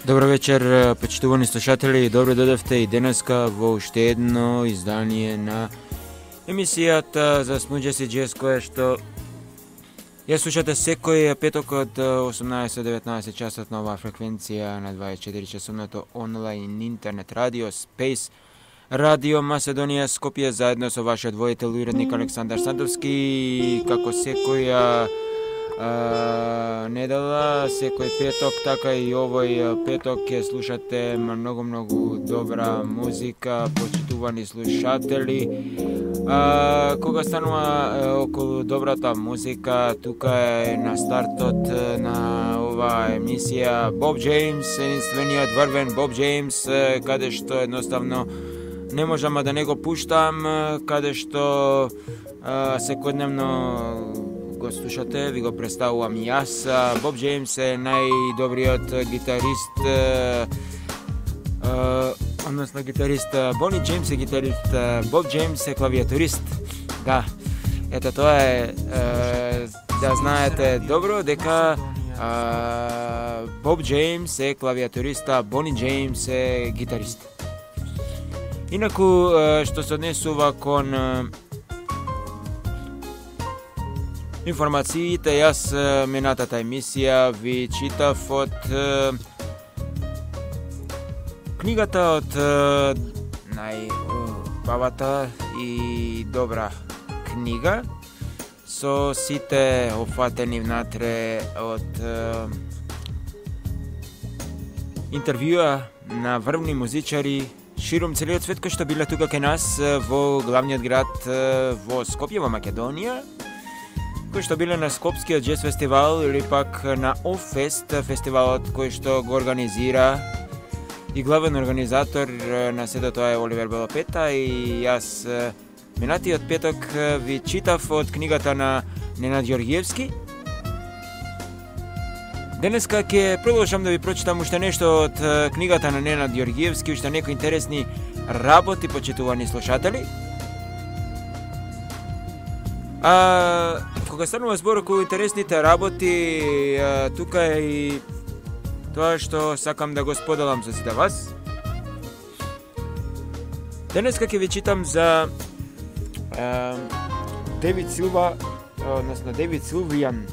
Добро вечер, почитувани слушатели, добро дојдовте и денеска во уште едно издание на емисијата за Smooth Jazz Jazz, која што ја слушате секој петок од 18-19 часот на оваа фреквенција на 24 часовното онлайн интернет радио Space Radio Macedonија Скопје, заедно со вашиот воител и уредник Александар Сандовски, како секоја недела, секој петок, така и овој петок ќе слушате многу добра музика, почитувани слушатели. Кога станува околу добрата музика, тука е на стартот на оваа емисија Боб Джеймс, единствениот врвен Боб Джеймс, каде што едноставно не можам да не го пуштам, каде што секојдневно го слушате, ви го представувам јас. Боб Джеймс е најдобриот гитарист, односно гитарист. Бони Джеймс е гитарист, Боб Джеймс е клавиатурист. Да, ето тоа е, да знаете добро дека Боб Джеймс е клавиатурист, а Бони Джеймс е гитарист. Инаку, што се однесува кон информациите, јас минатата емисија ви читав од книгата од најубавата и добра книга со сите опфатени внатре од интервјуа на врвни музичари широм целиот свет, кои што биле тука кај нас во главниот град во Скопје, во Македонија, кои што биле на Скопскиот джез фестивал или пак на Офест фестивалот кој што го организира и главен организатор на сето тоа е Оливер Белопета. И јас минатиот петок ви читав од книгата на Ненад Ѓорѓиевски. Денеска ќе продолжам да ви прочитам уште нешто од книгата на Ненад Ѓорѓиевски, уште некои интересни работи, почитувани слушатели. Кога станува збор околу интересните работи, тука е и тоа што сакам да го споделам со сите вас. Денеска ќе ви читам за Девид Силва, односно Девид Силвијан,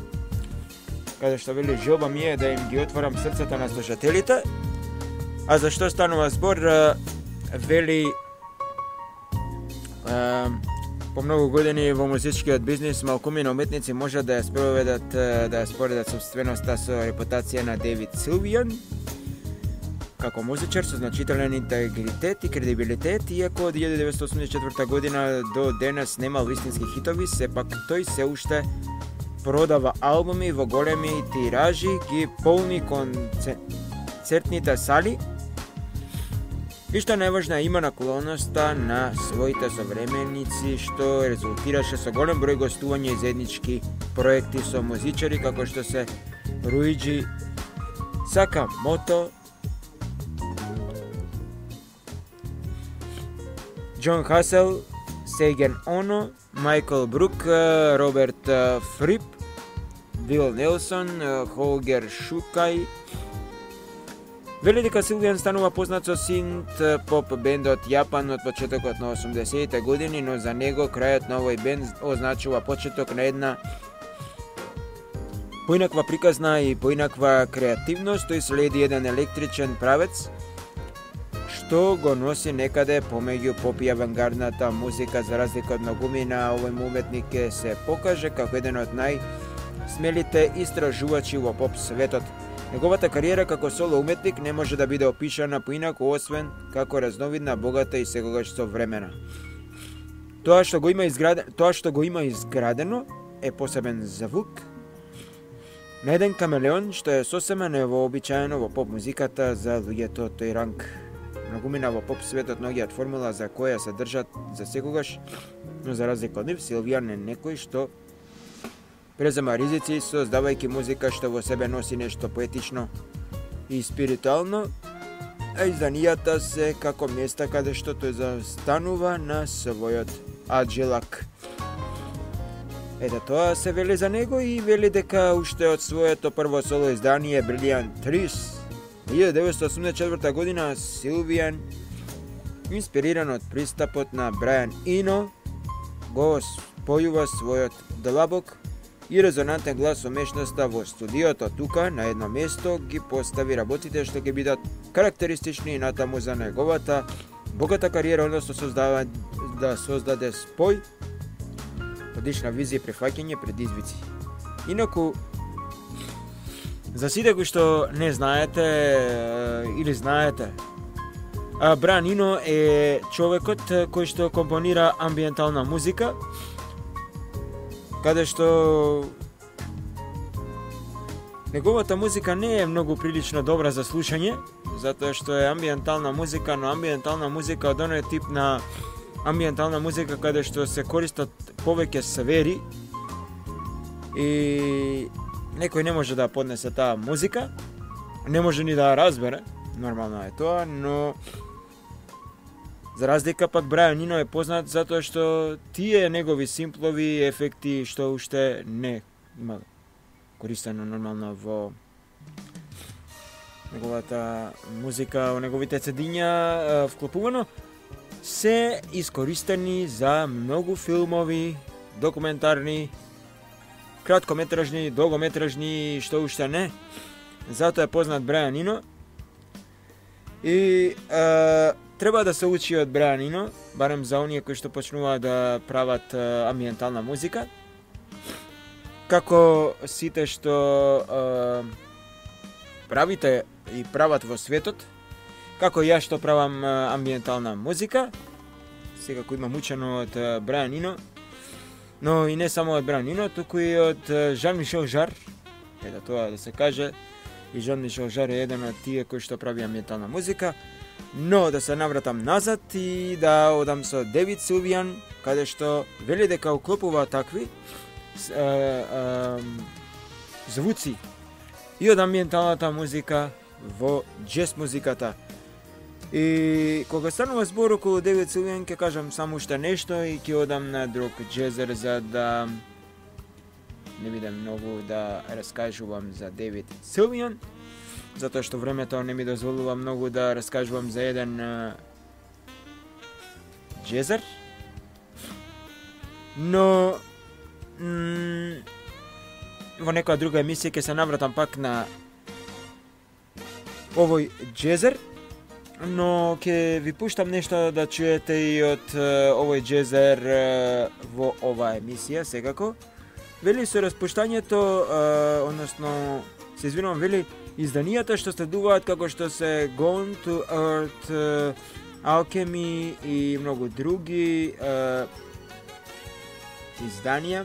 каде што вели желба ми е да им ги отворам срцата на слушателите. А за што станува збор? Вели по многу години во музичкиот бизнис малкумина уметници може да ја споредат собственоста со репутација на Девид Силвијан како музичар со значителен интегритет и кредибилитет. Иако од 1984 година до денес немал вистински хитови, сепак тој се уште продава албуми во големи тиражи, ги полни концертните сали и што најважна има наклонноста на своите современици, што резултираше со голем број гостувања и заеднички проекти со музичари како што се Руиджи Сакамото, Џон Хасел, Сейген Оно, Майкл Брук, Роберт Фрип, Вил Нелсон, Холгер Шукај. Вели дека Силвијан станува познат со синт поп бендот Јапан од почетокот на 80-те години, но за него крајот на овој бенд означува почеток на една поинаква приказна и поинаква креативност. Тој следи еден електричен правец што го носи некаде помеѓу поп и авангардната музика. За разлика од многумина, овој уметник ќе се покаже како еден од најсмелите истражувачи во поп светот. Неговата кариера како соло уметник не може да биде опишана поинаку освен како разновидна, богата и секогаш современа. Тоа што го има изградено е посебен звук на еден камелеон, што е сосема невообичаено во поп музиката за луѓето од тој ранг. Многумина во поп светот наоѓаат формула за која се држат за секогаш, но за разлика од нив, Силвијан е некој што презема ризици, создавајќи музика што во себе носи нешто поетично и спиритуално, а изданијата се како места каде што тој застанува на својот аджилак. Ето тоа се вели за него и вели дека уште од своето прво соло издание Brilliant Trees 1984 година Силвијан, инспириран од пристапот на Брајан Ино, го спојува својот длабок и резонантен глас со мешноста во студиото. Тука, на едно место, ги постави работите што ќе бидат карактеристични и натаму за неговата богата кариера, односно да создаде спој, одлична визија и префаќање предизвици. Инаку, за сите кои што не знаете или знаете, Брајан Ино е човекот кој што компонира амбиентална музика, каде што неговата музика не е многу прилично добра за слушање, затоа што е амбиентална музика, но амбиентална музика од оној тип на амбиентална музика каде што се користат повеќе сфери и некој не може да поднесе таа музика, не може ни да ја разбере, нормално е тоа, но за разлика пак Брајан Ино е познат затоа што тие негови симплови ефекти што уште не има користено нормално во неговата музика, во неговите цедиња вклопувано, се искористени за многу филмови, документарни, краткометражни, долгометражни, што уште не. Затоа е познат Брајан Ино. И треба да се учи од Брајан Ино, барем за оние кои што почнуваат да прават амбиентална музика. Како сите што правите и прават во светот, како ја што правам амбиентална музика, секако имам учено од Брајан Ино, но и не само од Брајан Ино, туку и од Жан-Мишел Жар, ето тоа да се каже, и Жан-Мишел Жар е еден од тие кои што прави амбиентална музика. Но да се навратам назад и да одам со Девид Силвијан, каде што вели дека уклопува такви звуци и од амбиенталната музика во джез музиката. И кога станува збор околу Девид Силвијан, ќе кажам само уште нешто и ќе одам на друг джезер за да не бидам многу да раскажувам за Девид Силвијан, затоа што времето не ми дозволува многу да раскажувам за еден джезер. Но во некоја друга емисија ќе се навратам пак на овој джезер, но ќе ви пуштам нешто да чуете и од овој джезер во оваа емисија секако. Вели со распуштањето, односно се извинувам, вели изданијата што следуваат како што се Gone to Earth, Alchemy и многу други изданија.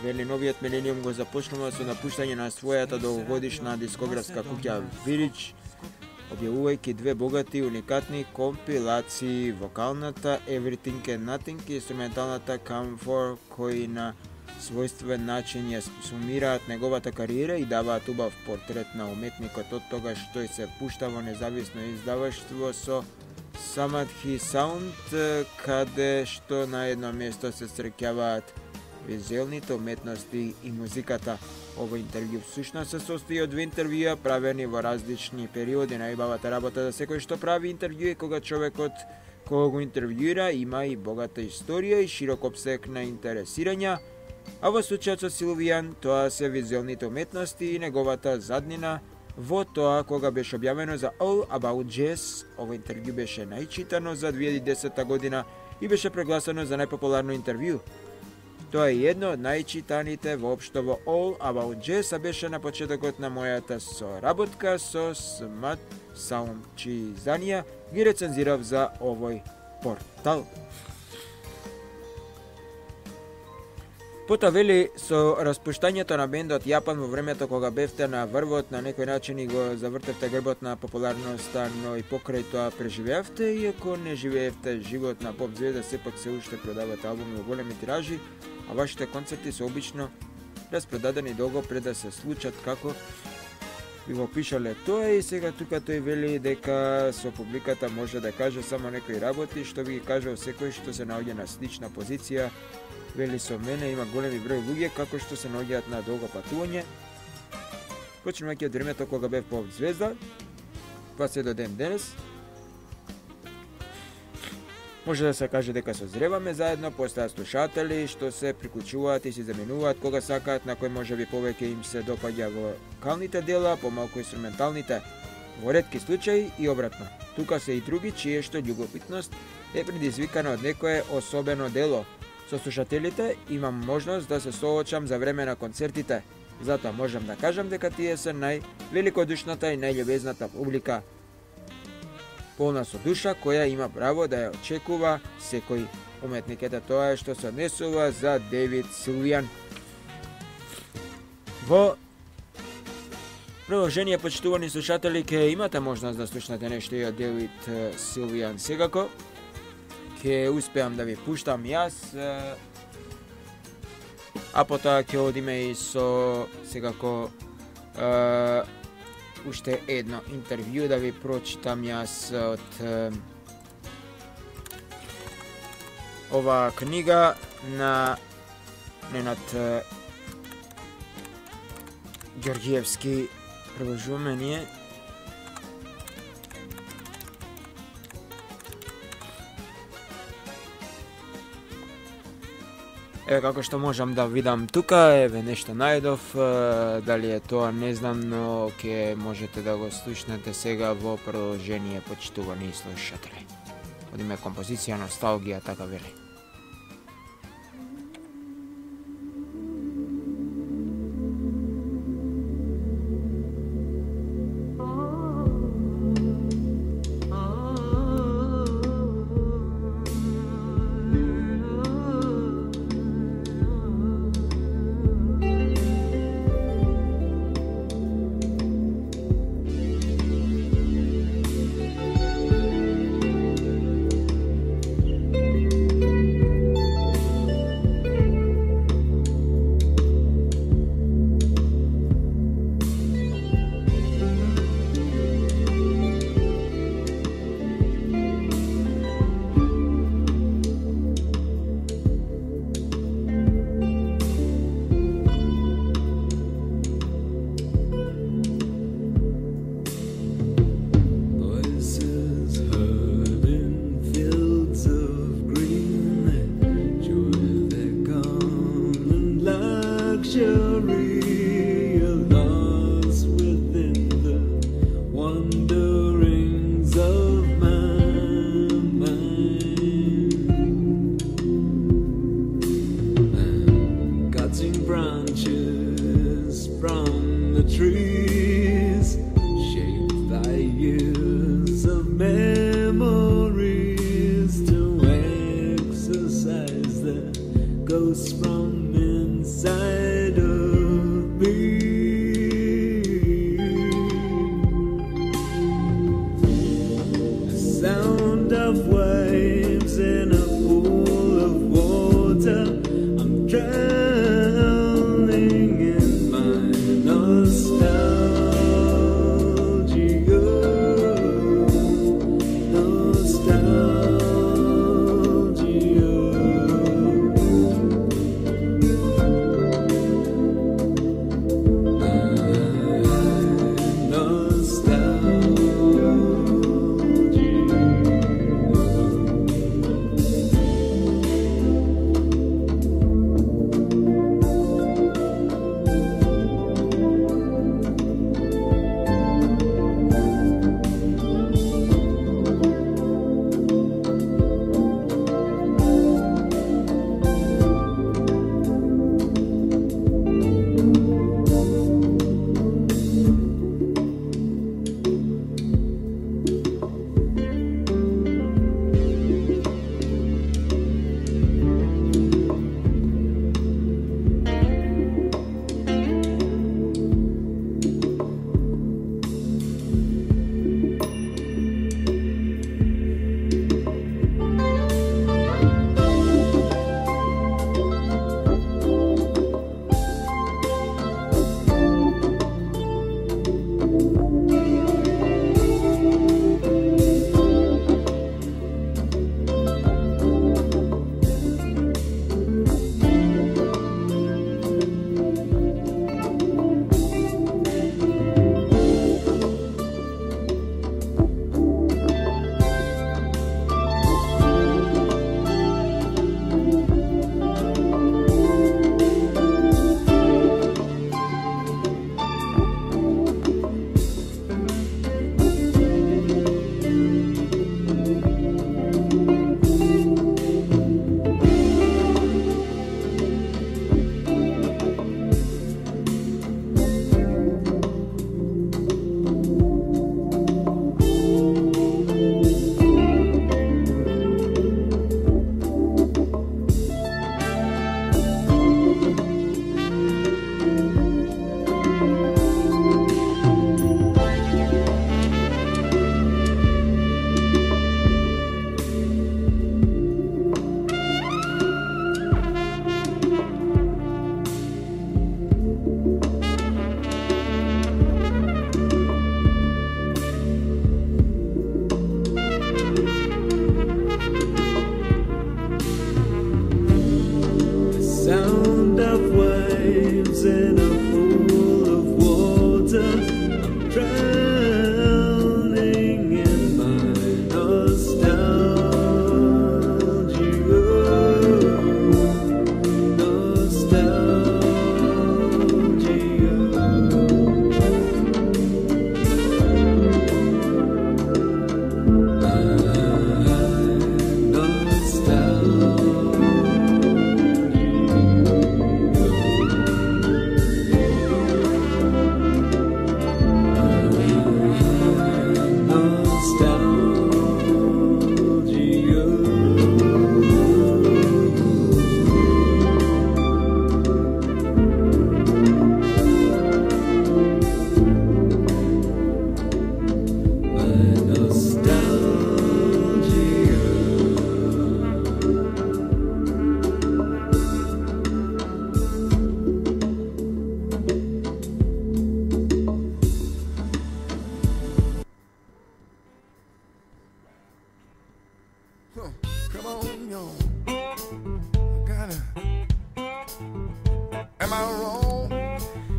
Вели новиот милениум го започнува со напуштање на својата долгогодишна дискографска куќа Village, објавувајќи две богати уникатни компилации, вокалната Everything and Nothing и инструменталната Come For, кои на својствен начин ја сумираат неговата кариера и даваат убав портрет на уметникот од тогаш тој се пушта во независно издаваштво со Samadhi Sound, каде што на едно место се среќаваат визуелните уметности и музиката. Ова интервју всушност се состои од две интервјуа правени во различни периоди. Најбавата работа за секој што прави интервју е кога човекот кој го интервјуира има и богата историја и широк опсег на интересирања, а во случајот со Силвијан тоа се визуелните уметности и неговата заднина во тоа кога беше објавено за All About Jazz. Ова интервју беше најчитано за 2010 година и беше прогласено за најпопуларно интервју. Тоа е едно од најчитаните воопшто во All About Jazz, а беше на почетокот на мојата соработка со Smart Sound, чии изданија ги рецензирав за овој портал. Пота вели со распуштањето на бендот Јапан во времето кога бевте на врвот, на некој начин и го завртевте грбот на популарноста, но и покрај тоа преживеавте, иако не живеевте живот на поп звезда, сепак се уште продавате албуми во големи тиражи, а вашите концерти се обично распродадени долго пред да се случат, како ви го пишале тоа. И сега тука тој вели дека со публиката може да каже само некои работи, што би ги кажал секој што се наоѓа на слична позиција. Вели со мене има големи број луѓе како што се наоѓаат на долго патување, почнувајќи од времето кога бев поп звезда, па се до ден денес. Може да се каже дека созреваме заедно, постаат слушатели што се приклучуваат и се заменуваат кога сакаат, на кој можеби повеќе им се допаѓа вокалните дела, помалку инструменталните. Во ретки случаи и обратно. Тука се и други чие што љубопитност е предизвикана од некое особено дело. Со слушателите имам можност да се соочам за време на концертите. Затоа можам да кажам дека тие се највеликодушната и најљубезната публика, полна со душа, која има право да ја очекува секој уметник. Ето тоа е што се однесува за Девид Силвијан. Во продолжение, почитувани слушатели, ќе имате можност да слушнете нешто и од Девид Силвијан секако. Ќе успеам да ви пуштам јас, а потоа ќе одиме и со секако уште едно интервју да ви прочитам јас од оваа книга на Ненад Ѓорѓиевски. Продолжуваме ние. Еве како што можам да видам тука, еве нешто најдов, дали е тоа не знам, но ќе можете да го слушнете сега во продолжение, почитувани слушатели. Од име композиција Носталгија, така вели.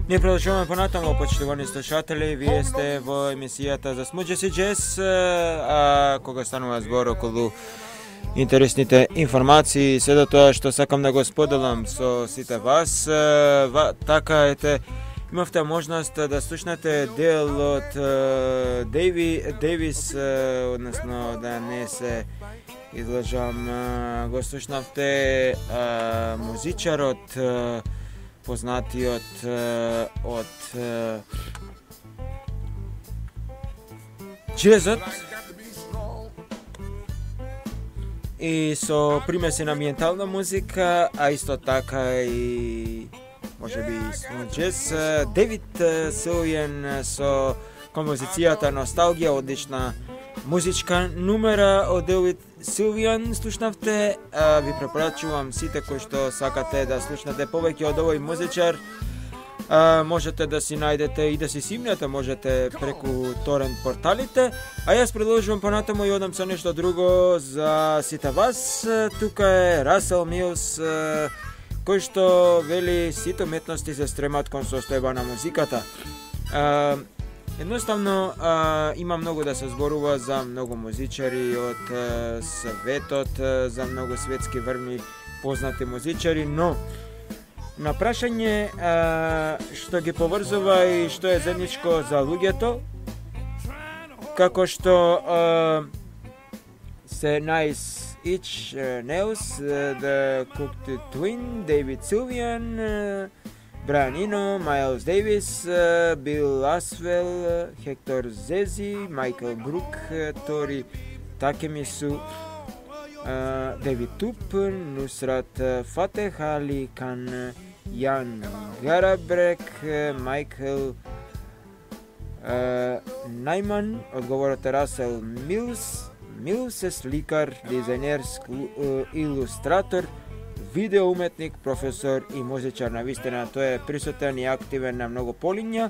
Ние продолжуваме понатаму, почитувани слушатели, вие сте во емисијата за Smooth Jazz и Jazz, кога станува збор околу интересните информации, се до тоа што сакам да го споделам со сите вас. Така ете, имавте можност да слушнете дел од Дейвис, односно да не се излажам, го слушнавте музичарот, познатиот од джезот и со примеси на амбиентална музика, а исто така и можеби smooth jazz. Девид Силвијан со композицијата Носталгија, одлична музичка номера од Девид Силвијан слушнавте. Ви препорачувам сите кои што сакате да слушнете повеќе од овој музичар, можете да си најдете и да си симнете, можете преку торент порталите, а јас продолжувам понатаму и одам со нешто друго за сите вас. Тука е Расел Милс, кој што вели сите уметности се стремат кон состојба на музиката. Едноставно има многу да се зборува за многу музичари од светот, за многу светски врвни познати музичари, но на прашање што ги поврзува и што е заедничко за луѓето, како што се Nice Inch Nails, The Cooked Twin, David Sylvian, Brian Eno, Miles Davis, Bill Laswell, Hector Zezi, Michael Brook, Tori Takemisu, David Tup, Nusrat Fateh Ali Khan, Jan Garabrek, Michael Najman, одговорот Расел Милс е сликар, дизајнер, илустратор, видеоуметник, професор и музичар. Навистина тој е присутен и активен на многу полиња.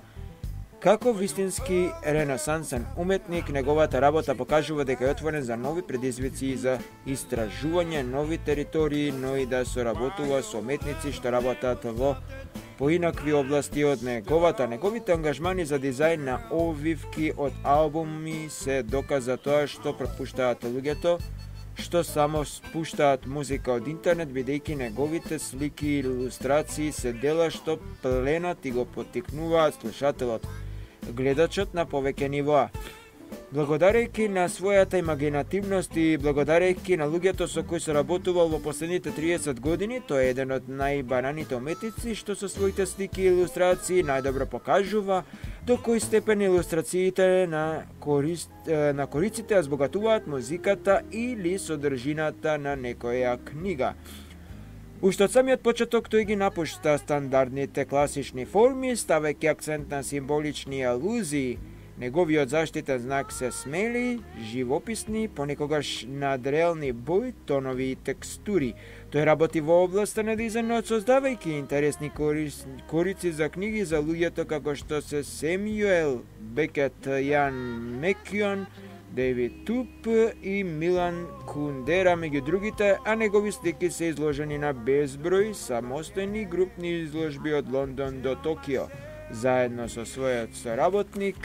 Како вистински ренесансен уметник, неговата работа покажува дека е отворен за нови предизвици и за истражување нови територии, но и да соработува со уметници што работат во поинакви области од неговите ангажмани за дизајн на овивки од албуми се доказа тоа што пропуштаат луѓето, што само спуштаат музика од интернет, бидејќи неговите слики и илустрации се дела што пленат и го поттикнуваат слушателот, гледачот на повеќе нивоа. Благодарејќи на својата имагинативност и благодарејќи на луѓето со кои се работувал во последните 30 години, тој е еден од најбараните уметници што со своите слики и илустрации најдобро покажува до кој степен илустрациите на кориците ја збогатуваат музиката или содржината на некоја книга. Уште од самиот почеток тој ги напушта стандардните класични форми, ставајќи акцент на символични алузии. Неговиот заштитен знак се смели, живописни, понекогаш надреални бои, тонови и текстури. Тој работи во областа на дизајнот, создавајќи интересни корици за книги за луѓето како што се Семјуел Бекет, Јан Мекјон, Дейвид Туп и Милан Кундера меѓу другите, а негови слики се изложени на безброј самостојни групни изложби од Лондон до Токио. Заедно со својот соработник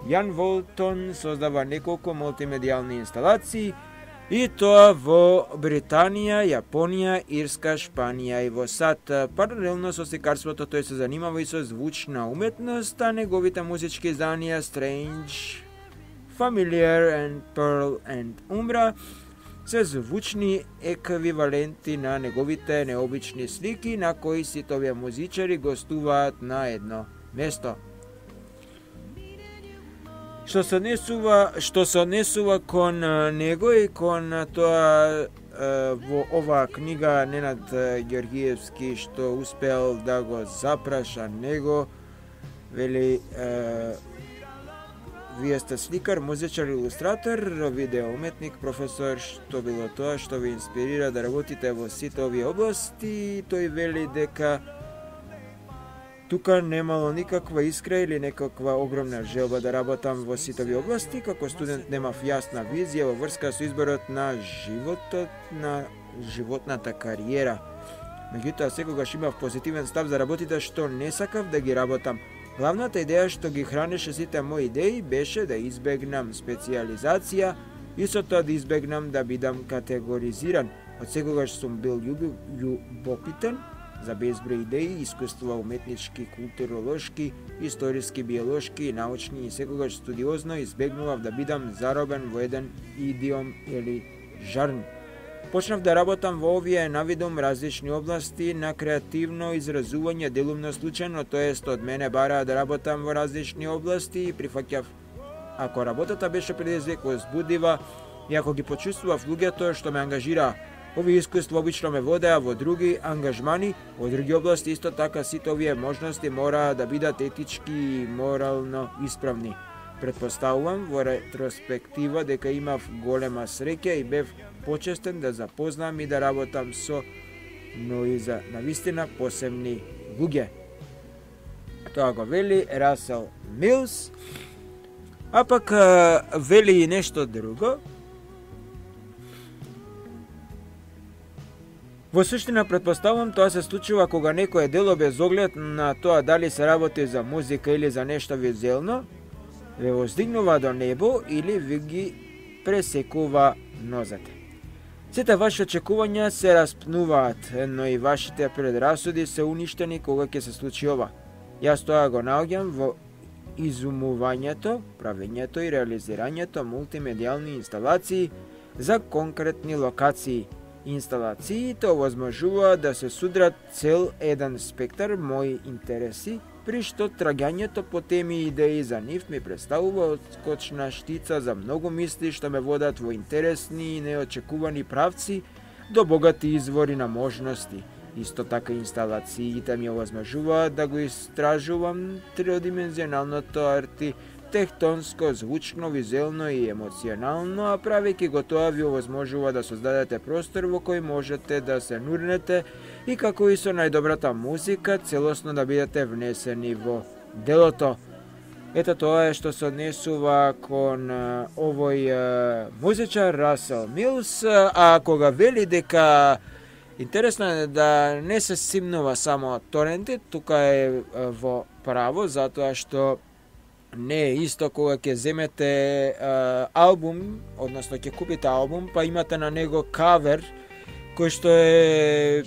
Јан Волтон создава неколку мултимедијални инсталации, и тоа во Британија, Јапонија, Ирска, Шпанија и во САД. Паралелно со сликарството тој се занимава и со звучна уметност, а неговите музички изданија Strange, Familiar and Pearl and Umbra се звучни еквиваленти на неговите необични слики на кои сите овие музичари гостуваат на едно место. Што се однесува кон него и кон тоа во оваа книга Ненад Ѓоргиевски што успеал да го запраша него, вели вие сте сликар, музичар, илустратор, видеоуметник, професор, што било тоа што ви инспирира да работите во сите овие области. Тој вели дека тука немало никаква искра или некаква огромна желба да работам во сите овие области. Како студент немав јасна визија во врска со изборот на животот, на животната кариера. Меѓутоа, секогаш имав позитивен став за работите што не сакав да ги работам. Главната идеја што ги хранеше сите мои идеи беше да избегнам специализација и со тоа да избегнам да бидам категоризиран. Од секогаш сум бил љубопитен за безброј идеи, искуства уметнички, културолошки, историски, биолошки и научни и секогаш студиозно избегнував да бидам заробен во еден идиом или жарн. Почнав да работам во овие навидум различни области на креативно изразување делумно случајно, тоест од мене бараа да работам во различни области и прифаќав ако работата беше предизвик возбудива и ако ги почувствував луѓето што ме ангажираа. Овие искуства обично ме водеа во други ангажмани, во други области, исто така сите овие можности мораа да бидат етички и морално исправни. Претпоставувам во ретроспектива дека имав голема среќа и бев почестен да запознам и да работам со за навистина посебни луѓе. Тоа го вели Расел Милс, а пак вели и нешто друго. Во суштина, претпоставувам, тоа се случува кога некое дело без оглед на тоа дали се работи за музика или за нешто визуелно, ве воздигнува до небо или ви ги пресекува нозете. Сите ваши очекувања се распнуваат, но и вашите предрасуди се уништени кога ќе се случи ова. Јас тоа го наоѓам во изумувањето, правењето и реализирањето мултимедијални инсталации за конкретни локации. Инсталациите овозможуваат да се судрат цел еден спектар мои интереси, при што трагањето по теми и идеи за нив ми представува отскочна штица за многу мисли што ме водат во интересни и неочекувани правци до богати извори на можности. Исто така инсталациите ми овозможуваат да го истражувам тридимензионалното архитектонско, звучно, визуелно и емоционално, а правејќи го тоа ви овозможува да создадете простор во кој можете да се нурнете и како и со најдобрата музика целосно да бидете внесени во делото. Ето тоа е што се однесува кон овој музичар Расел Милс, а кога вели дека интересно е да не се симнува само торенти, тука е во право, затоа што не е исто кога ќе земете албум, односно ќе купите албум, па имате на него кавер, кој што е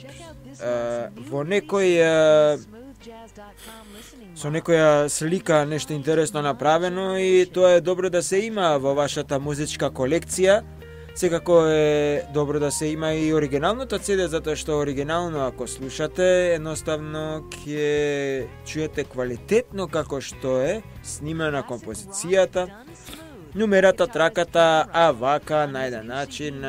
во некој со некоја слика нешто интересно направено и тоа е добро да се има во вашата музичка колекција. Секако е добро да се има и оригиналното CD, затоа што оригинално ако слушате, едноставно ќе чуете квалитетно како што е снимена композицијата, нумерата, траката, а вака на еден начин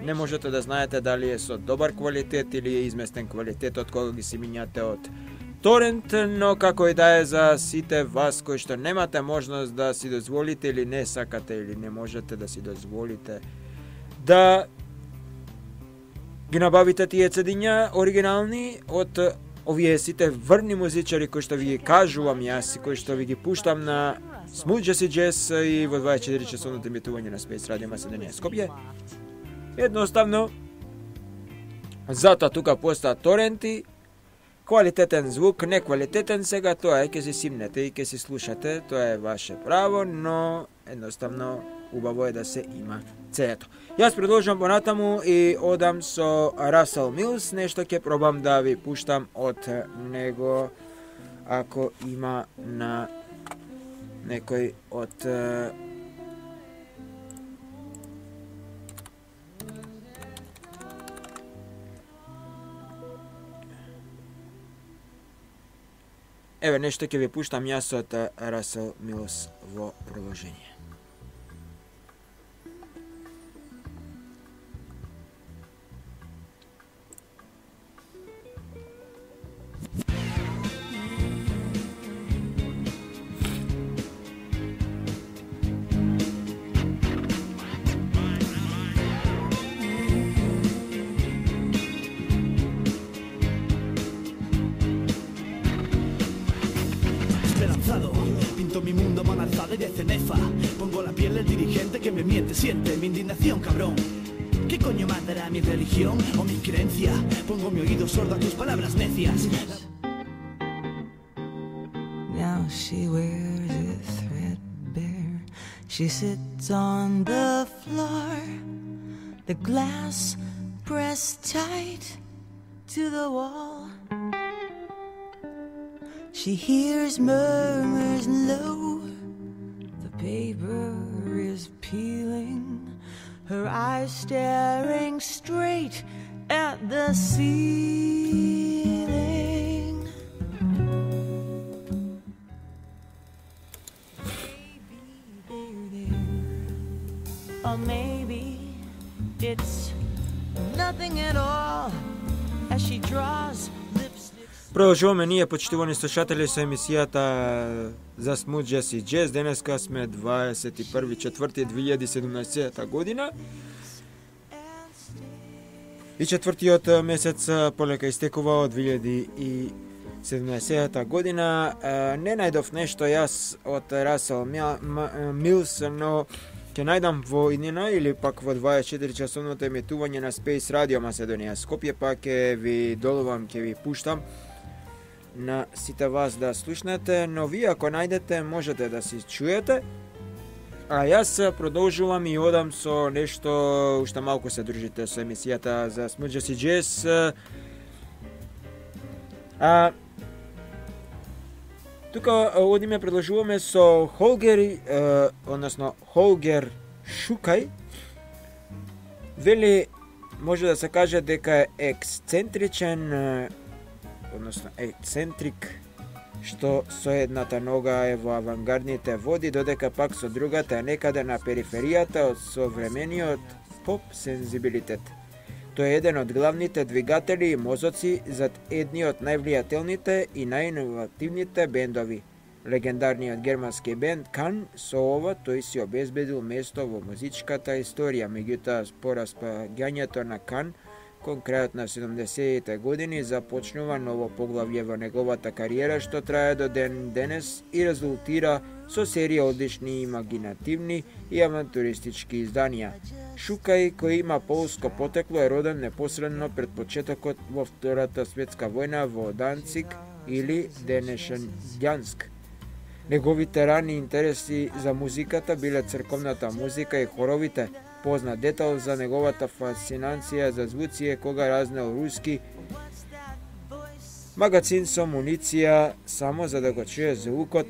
не можете да знаете дали е со добар квалитет или е изместен квалитетот кога ги си минјате од торент, но како и да е за сите вас кои што немате можност да си дозволите или не сакате или не можете да си дозволите да ги набавите тие цедиња оригинални од овие сите врни музичари кои што ви ги кажувам јас и кои што ви ги пуштам на Smooth Jazz Jazz и во 24 часовното емитување на Space Radio Macedonија Скопје. Едноставно, затоа тука постаат торенти, квалитетен звук, неквалитетен, сега тоа е ќе си симнете и ќе си слушате, тоа е ваше право, но едноставно убаво е да се има цето. Јас продолжам понатаму и одам со Расел Милс, нешто ќе пробам да ви пуштам од него ако има на некој од еве нешто ќе ви пуштам јас од Расел Милс во продолжение. Pinto mi mundo a mano alzada y de cenefa. Pongo la piel del dirigente que me miente. Siente mi indignación, cabrón. ¿Qué coño matará mi religión o mi creencia? Pongo mi oído sordo a tus palabras necias. Now she wears it threadbare. She sits on the floor, the glass pressed tight to the wall. She hears murmurs low. The paper is peeling, her eyes staring straight at the ceiling. Or maybe it's nothing at all as she draws lipstick. Продолжуваме ние, почитувани слушатели, со емисијата за Smooth Jazz и Jazz. Денеска сме 21.4.2017 година. И четвртиот месец полека истекува од 2017 година. Не најдов нешто јас од Расел Милс, но ќе најдам во иднина или пак во 24 часовното емитување на Space Radio Macedonија Скопје, па ќе ви долувам, ќе ви пуштам на сите вас да слушнете, но вие ако најдете можете да си чуете. А јас продолжувам и одам со нешто, уште малку се дружите со емисијата за Smooth Jazz и Jazz. Тука одиме, продолжуваме со Холгер, односно Холгер Шукај. Вели, може да се каже дека е ексцентричен, односно ексцентрик, што со едната нога е во авангардните води, додека пак со другата е некаде на периферијата од современиот поп-сензибилитет. Тој е еден од главните двигатели и мозоци зад едни од највлијателните и најиновативните бендови. Легендарниот германски бенд Can, со ова тој си обезбедил место во музичката историја, меѓутоа по распаѓањето на Can кон крајот на 70-те години започнува ново поглавје во неговата кариера, што трае до ден денес и резултира со серија одлични, имагинативни и авантуристички изданија. Шукај, кој има полско потекло, е роден непосредно пред почетокот во Втората светска војна во Данциг или денешен Ѓанск. Неговите рани интереси за музиката биле црковната музика и хоровите. Познат детал за неговата фасцинација за звуци е кога разнел руски магацин со муниција само за да го чуе звукот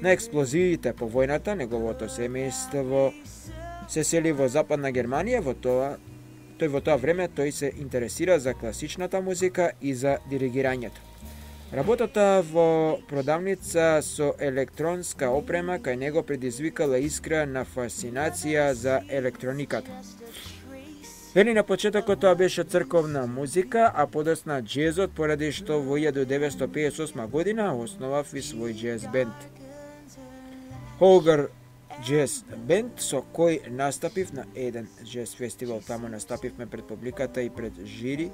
на експлозиите по војната. Неговото семејство се сели во Западна Германија. Во тоа време тој се интересира за класичната музика и за диригирањето. Работата во продавница со електронска опрема кај него предизвикала искра на фасцинација за електрониката. Вели, на почетокот тоа беше црковна музика, а подосна джезот, поради што во 1958 година основав и свој джез бенд. Холгер Джез бенд, со кој настапив на еден джез фестивал. Таму настапивме пред публиката и пред жири,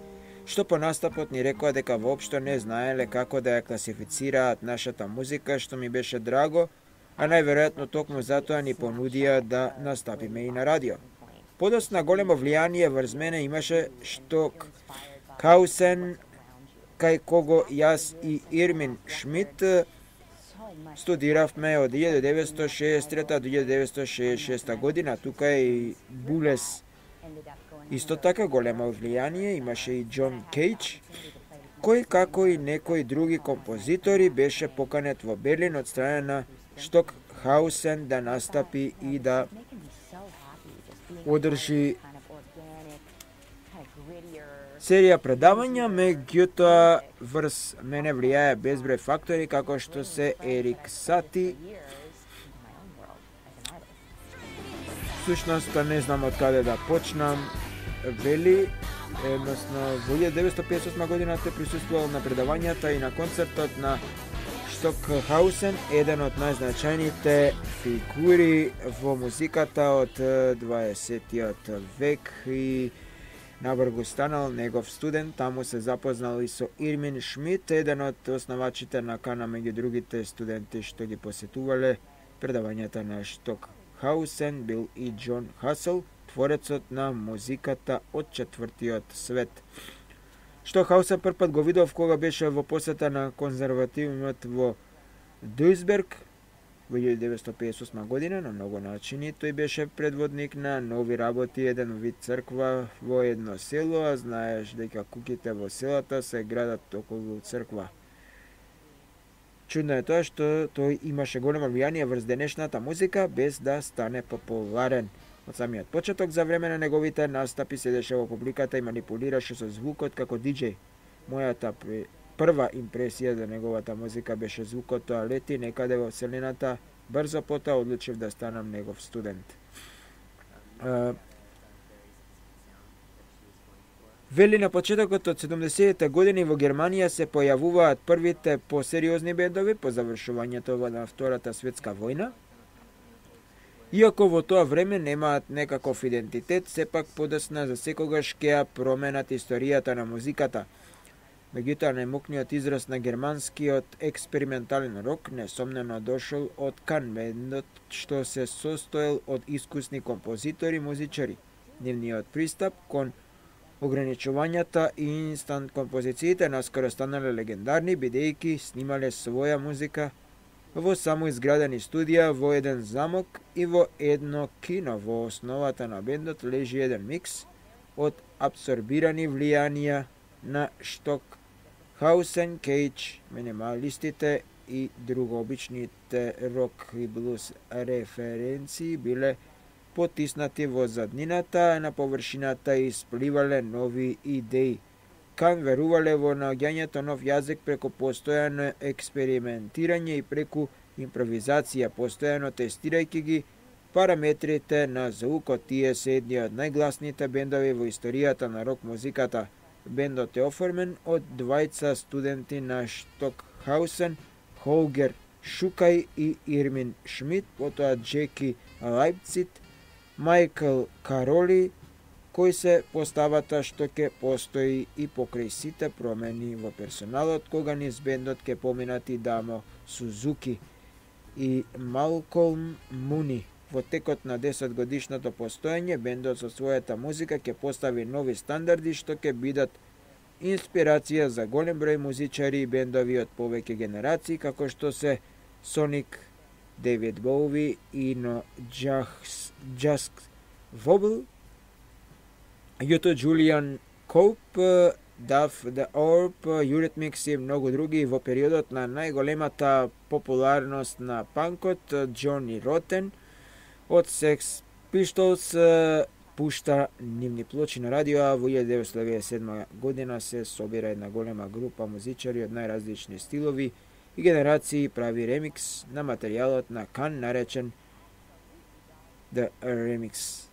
што по настапот ни рекоа дека воопшто не знаеле како да ја класифицираат нашата музика, што ми беше драго, а најверојатно токму затоа ни понудија да настапиме и на радио. Подосна големо влијание врз мене имаше Шток Хаусен, кај кого јас и Ирмин Шмидт студиравме од 1963 до 1966 година. Тука е и Булес. Исто така големо влијание имаше и Џон Кейдж, кој како и некои други композитори беше поканет во Берлин од страна на Штокхаусен да настапи и да одржи серија предавања, меѓутоа врз мене влијае безброј фактори како што се Ерик Сати. Сушност не знам од каде да почнам. Вели, едносно во 1958 година те присуствувал на предавањата и на концертот на Штокхаусен, еден од најзначајните фигури во музиката од 20-тиот век и набргу станал негов студент. Таму се запознал и со Ирмин Шмидт, еден од основачите на Кана, меѓу другите студенти што ги посетувале предавањата на Штокхаусен бил и Џон Хасел, творецот на музиката од четвртиот свет. Што Хаусен првпат го видов кога беше во посета на конзервативниот во Дуйсберг во 1958 година. На многу начини тој беше предводник на нови работи, еден вид црква во едно село, а знаеш дека куќите во селата се градат околу црква. Чудно е тоа што тој имаше големо влијание врз денешната музика без да стане популарен. Од самиот почеток за време на неговите настапи седеше во публиката и манипулираше со звукот како диџеј. Мојата прва импресија за неговата музика беше звукот тоа лети некаде во вселената. Брзо потоа одлучив да станам негов студент. Вели на почетокот од 70-те години во Германија се појавуваат првите посериозни бендови по завршувањето на Втората светска војна. Иако во тоа време немаат некаков идентитет, сепак подесна за секогаш ќе ја променат историјата на музиката. Меѓутоа, најмокниот израз на германскиот експериментален рок несомнено дошол од Кан бендот, што се состоел од искусни композитори и музичари. Нивниот пристап кон ограничувањата и инстант композициите наскоро станале легендарни, бидејќи снимале своја музика во самоизградени студија, во еден замок и во едно кино. Во основата на бендот лежи еден микс од абсорбирани влијанија на Штокхаусен, Кейдж, минималистите и другообичните рок и блуз референции биле потиснати во заднината, а на површината испливале нови идеи. Кан верувале во наоѓањето нов јазик преку постојано експериментирање и преку импровизација, постојано тестирајќи ги параметрите на звукот. Тие се едни од најгласните бендови во историјата на рок музиката. Бендот е оформен од двајца студенти на Штокхаусен, Холгер Шукај и Ирмин Шмидт, потоа Джеки Лајпцит, Мајкл Кароли, кој се поставата што ќе постои и покрај сите промени во персоналот, кога низ бендот ќе поминат и Дамо Сузуки и Малколм Муни. Во текот на 10 годишното постоење, бендот со својата музика ќе постави нови стандарди што ќе бидат инспирација за голем број музичари и бендови од повеќе генерации, како што се Соник, Дейвид Боуи и но Джаст Вобл, Јуто Джулијан Коуп, Дав The Orb, Eurythmics и многу други. Во периодот на најголемата популарност на панкот, Джони Ротен од Sex Pistols пушта нивни плочи на радио, а во 1997 година се собира една голема група музичари од најразлични стилови и генерации и прави ремикс на материјалот на Кан наречен The Remix.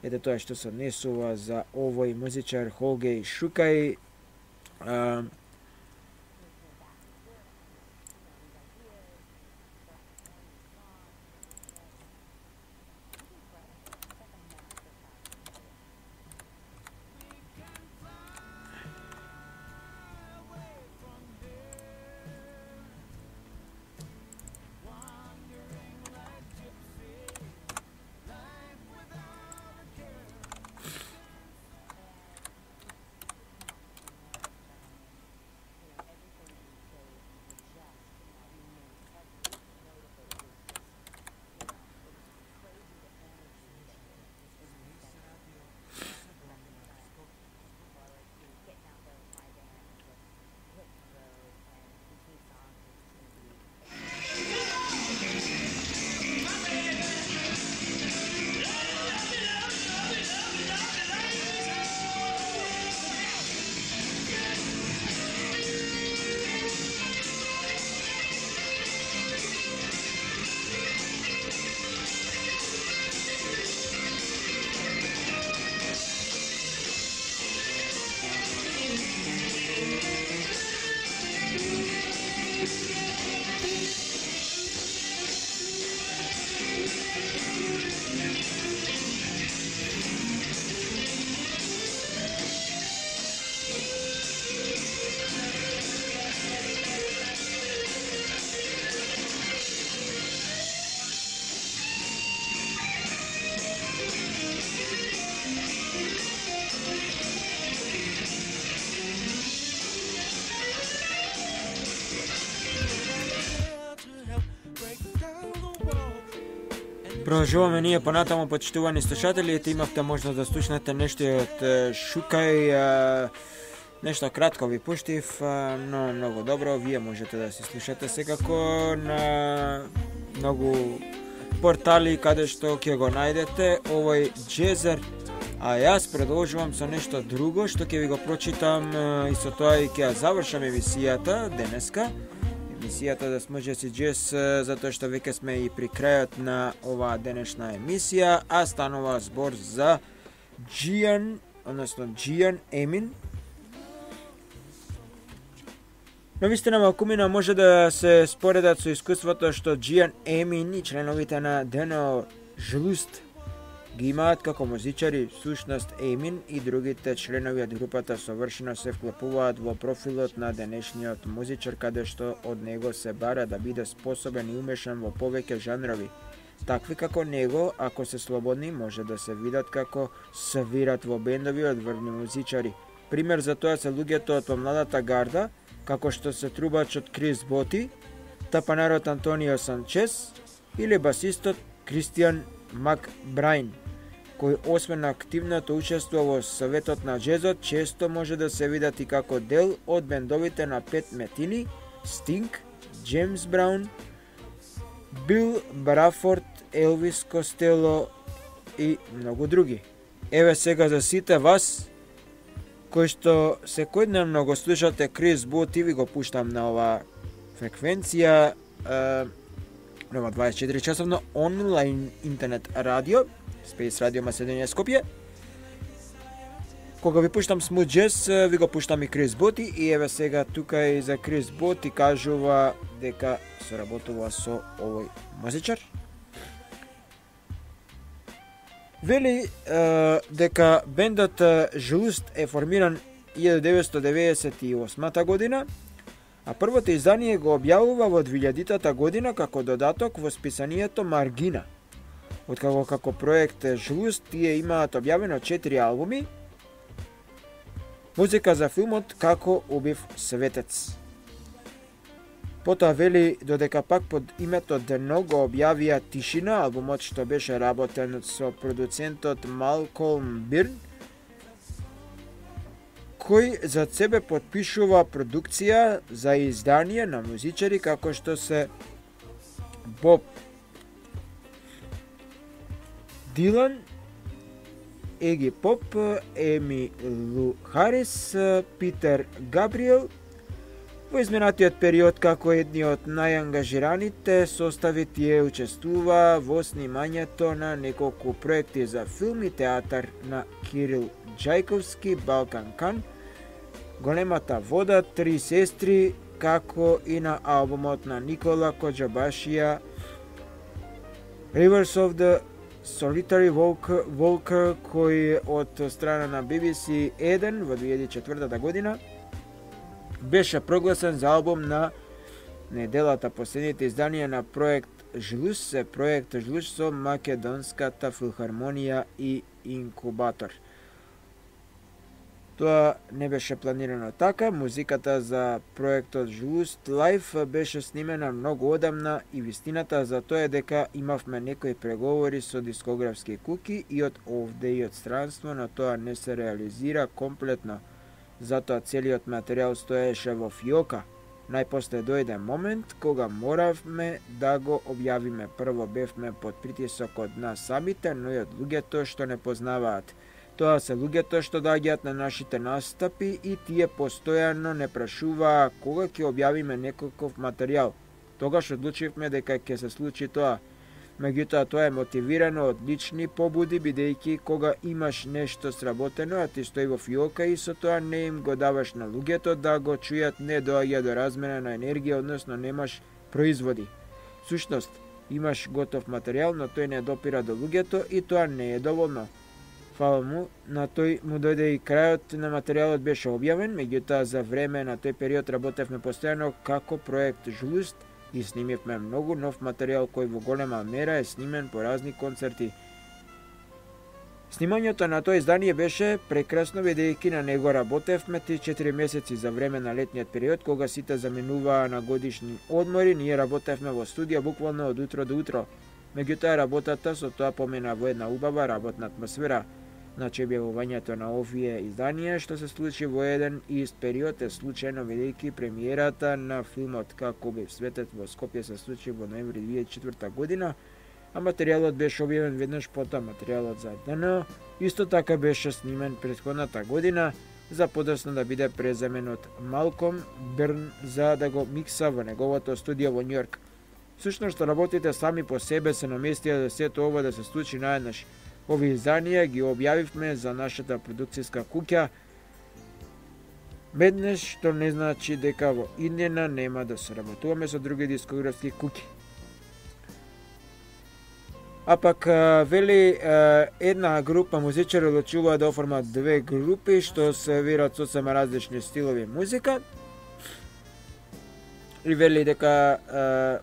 Ете тоа што се однесува за овој музичар Холгер Шукај. Продолжуваме ние понатаму, почитувани слушатели, имавте можност да слушнете нешто од Шукај, нешто кратко ви пуштив, но многу добро, вие можете да си слушате секако на многу портали каде што ќе го најдете овој джезер, а јас продолжувам со нешто друго што ќе ви го прочитам и со тоа и ќе завршам емисијата денеска. Емисијата да сможе си джез, затоа што веќе сме и при крајот на оваа денешна емисија, а станува збор за Gian Emin. Но вистина малкумина може да се споредат со искуството што Gian Emin и членовите на Deno Žlust ги имаат како музичари. Всушност Emin и другите членови од групата совршено се вклопуваат во профилот на денешниот музичар, каде што од него се бара да биде способен и умешан во повеќе жанрови. Такви како него, ако се слободни, може да се видат како свират во бендови од врвни музичари. Пример за тоа се луѓето од помладата гарда, како што се трубачот Крис Боти, тапанарот Антонио Санчес или басистот Кристијан Макбрайн, кој освен активното учество во Советот на джезот, често може да се видат и како дел од бендовите на Пет Метини, Стинг, Джеймс Браун, Бил Брафорд, Елвис Костело и многу други. Еве сега за сите вас кои што секојдневно го слушате Крис Боти, ви го пуштам на оваа фреквенција, нова 24 часовно онлайн интернет радио, Space Radio Macedония Скопје. Кога ви пуштам Smooth Jazz, ви го пуштам и Крис Боти, и еве сега тука и за Крис Боти кажува дека соработува со овој музичар. Вели дека бендот Žlust е формиран 1998 година, а првото издание го објавува во 2000 година како додаток во списанието Маргина. Откако како проект Žlust тие имаат објавено 4 албуми, музика за филмот Како убив светец. Потоа вели додека пак под името Дено го објавија Тишина, албумот што беше работен со продуцентот Малколм Бирн, кој за себе подпишува продукција за издание на музичари како што се Боб Дилан, Еги Поп, Еми Лу Харис, Питер Габриел. Во изминатиот период како едни од најангажираните состави тие учествува во снимањето на неколку проекти за филм и театар на Кирил Джајковски, Балкан Кан, Големата вода, Три сестри, како и на албумот на Никола Коџабашија Rivers of the Solitary Walker, кој од страна на BBC 1 во 2004 година беше прогласен за албум на неделата. Последните изданија на проект Žlust се проект Žlust со Македонската филхармонија и Инкубатор. Тоа не беше планирано така. Музиката за проектот Žlust Live беше снимена многу одамна и вистината за тоа е дека имавме некои преговори со дискографски куки и од овде и од странство, но тоа не се реализира комплетно. Затоа целиот материјал стоеше во фиока. Најпосле дојде момент кога моравме да го објавиме. Прво бевме под притисок од нас самите, но и од луѓето што не познаваат. Тоа се луѓето што доаѓаат на нашите настапи и тие постојано не прашуваа кога ќе објавиме некаков материјал. Тогаш одлучивме дека ќе се случи тоа. Меѓутоа тоа е мотивирано од лични побуди, бидејќи кога имаш нешто сработено, а ти стои во фиока и со тоа не им го даваш на луѓето да го чујат, не доаѓа до размена на енергија, односно немаш производи. Сушност, имаш готов материјал, но тој не допира до луѓето и тоа не е доволно. Фала му, на тој му дојде и крајот на материјалот беше објавен, меѓутоа за време на тој период работевме постојано како проект Žlust и снимивме многу нов материјал кој во голема мера е снимен по разни концерти. Снимањето на тоа издание беше прекрасно, бидејќи на него работевме 3-4 месеци за време на летниот период, кога сите заминуваа на годишни одмори, ние работевме во студија буквално од утро до утро. Меѓутоа работата со тоа помина во една убава работна атмосфера. Значи објавувањето на овие изданија што се случи во еден ист период е случајно, бидејќи премиерата на филмот Како бев светот во Скопје се случи во ноември 2004 година, а материјалот беше објавен веднаш потоа. Материјалот за ДНО исто така беше снимен претходната година, за подоцна да биде преземен од Малком Берн за да го микса во неговото студио во Њујорк. Всушност, работите сами по себе се наместија да сето ова да се случи наеднаш. Овие изданија ги објавивме за нашата продукцијска куќа, меднеш што не значи дека во иднина нема да соработуваме со други дискографски куќи. А пак, вели, една група музичари одлучуваат да оформат две групи што се вират сосема различни стилови музика. И вели дека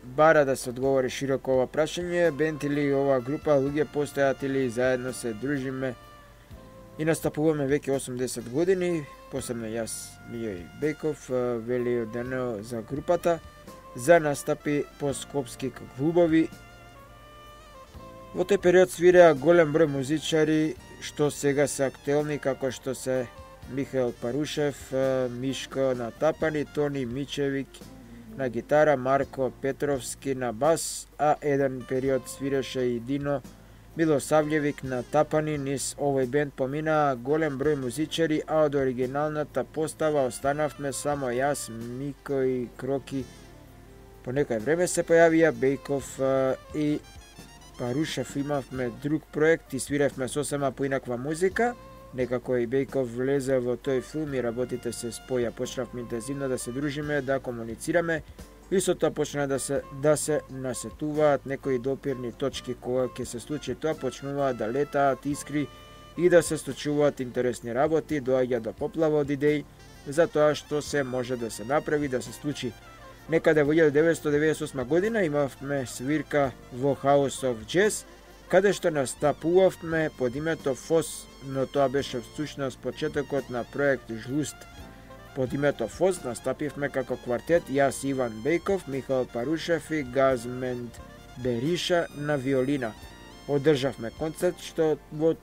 бара да се одговори широко ова прашање, бенд или ова група луѓе постојат или заедно се дружиме и настапуваме веќе 80 години, посебно јас, Мијо и Беков, вели ДНО за групата, за настапи по скопски клубови. Во тој период свиреа голем број музичари што сега се актуелни, како што се Михаил Парушев, Мишко на тапани, Тони Мичевик на гитара, Марко Петровски на бас, а еден период свиреше и Дино Милосављевик на тапани. Низ овој бенд поминаа голем број музичари, а од оригиналната постава останавме само јас, Мико и Кроки. По некој време се појавија Бејков и Парушев. Имавме друг проект и свиревме сосема поинаква музика. Некако и Бејков влезе во тој филм и работите се споја. Почнавме интензивно да се дружиме, да комуницираме и со тоа почна да се насетуваат некои допирни точки. Кога ќе се случи тоа, почнуваат да летаат искри и да се случуваат интересни работи, доаѓа до поплава од идеи за тоа што се може да се направи, да се случи. Некаде во 1998 година имавме свирка во House of Jazz, каде што настапувавме под името ФОС, но тоа беше всушност почетокот на проект Жлуст. Под името ФОС настапивме како квартет, јас Иван Бејков, Михаил Парушев и Газмент Бериша на виолина. Одржавме концерт што во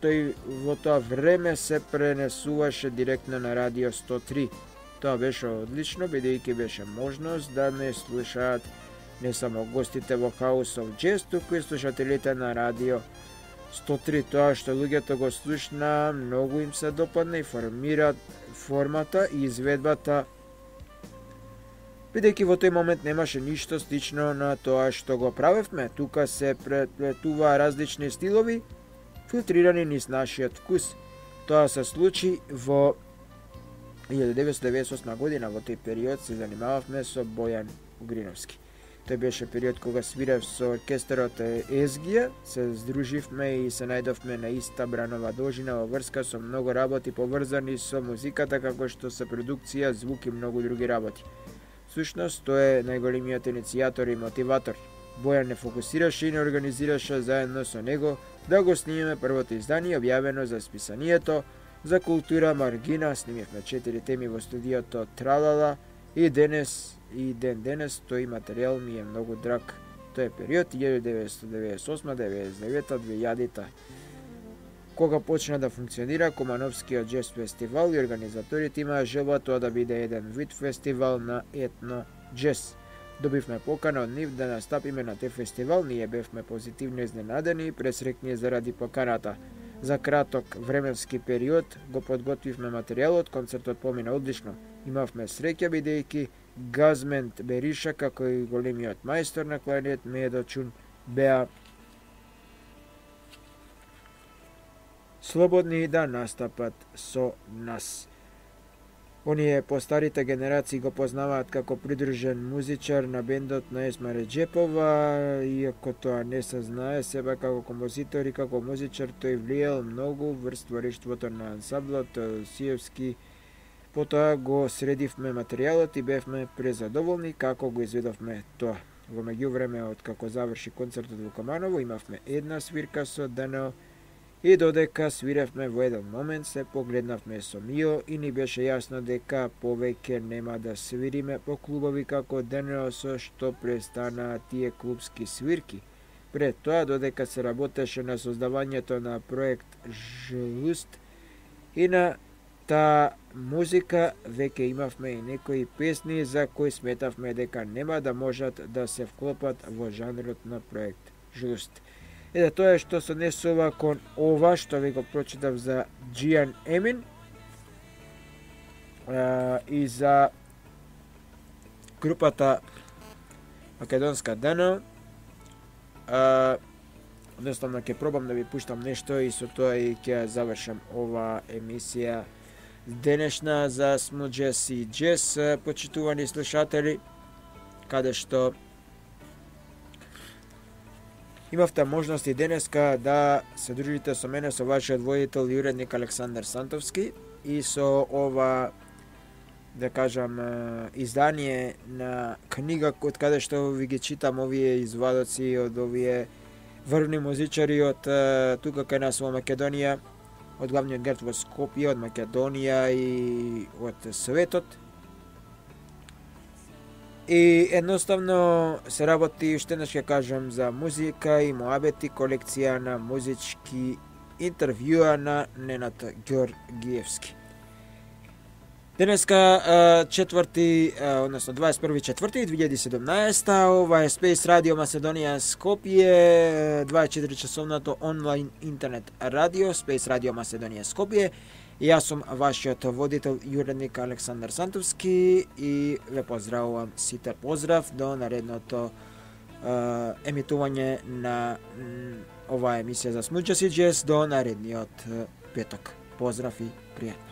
тоа време се пренесуваше директно на Радио 103. Тоа беше одлично, бидејќи беше можност да не слушаат не само гостите во House of Jazz, туку и слушателите на Радио 103. Тоа што луѓето го слушна, многу им се допадна и формираат формата и изведбата, бидејќи во тој момент немаше ништо слично на тоа што го правевме. Тука се преплетуваа различни стилови, филтрирани низ нашиот вкус. Тоа се случи во 1998 година. Во тој период се занимававме со Бојан Угриновски. Тој беше период кога свирев со оркестарот Езгија, се здруживме и се најдовме на иста бранова должина во врска со многу работи поврзани со музиката, како што се продукција, звук и многу други работи. Всушност, тој е најголемиот иницијатор и мотиватор. Бојан не фокусираше и не организираше заедно со него да го снимеме првото издание, објавено за списанието за култура Маргина. Снимевме 4 теми во студиото Тралала и денес тој материјал ми е многу драг. Тој е период 1998-99-2000, кога почна да функционира Кумановскиот джез фестивал и организаторите имаа желба тоа да биде еден вид фестивал на етно джез. Добивме покана од нив да настапиме на тој фестивал, ние бевме позитивно изненадени и пресрекни заради поканата. За краток временски период го подготвивме материјалот, концертот помина одлично. Имавме среќа бидејќи Газмент Бериша, како и големиот мајстор на кларинет Медо Чун, беа слободни да настапат со нас. Оние постарите генерации го познаваат како придружен музичар на бендот на Есма Реджепова, иако тоа не се знае, себе како композитор и како музичар тој влијал многу врз творештвото на ансамблот Сиевски. Потоа го средивме материјалот и бевме презадоволни како го изведовме тоа. Во меѓувреме, од како заврши концертот во Команово, имавме една свирка со ДНО И додека свиревме во еден момент се погледнавме со Мио и ни беше јасно дека повеќе нема да свириме по клубови како денес, со што престанаа тие клубски свирки. Пред тоа, додека се работеше на создавањето на проект Жлуст и на таа музика, веќе имавме и некои песни за кои сметавме дека нема да можат да се вклопат во жанрот на проект Жлуст. Тоа е што се однесува кон ова што ви го прочитав за Джиан Емин и за групата Македонска Дано. Одноставно ќе пробам да ви пуштам нешто и со тоа и ќе завршам ова емисија денешна за Smooth Jazz и Jazz, почитувани слушатели, каде што имавте можност и денеска да се дружите со мене, со вашиот водител и уредник Александар Сантовски, и со ова, да кажам, издание на книга од каде што ви ги читам овие извадоци од овие врвни музичари од тука кај нас во Македонија, од главниот град во Скопје, од Македонија и од светот. И едноставно се работи, уште еднаш ќе кажам, за музика и моабети, колекција на музички интервјуа на Ненад Ѓоргиевски. Денеска 21.4.2017, ова е Space Radio Macedonija Skopje, 24 часовното онлайн интернет радио, Space Radio Macedonija Skopje. Јас сум вашиот водител и уредник Александар Сантовски и ве поздравувам сите. Поздрав до наредното емитување на оваа емисија за Smooth Jazz и Jazz до наредниот петок. Поздрав и пријатно.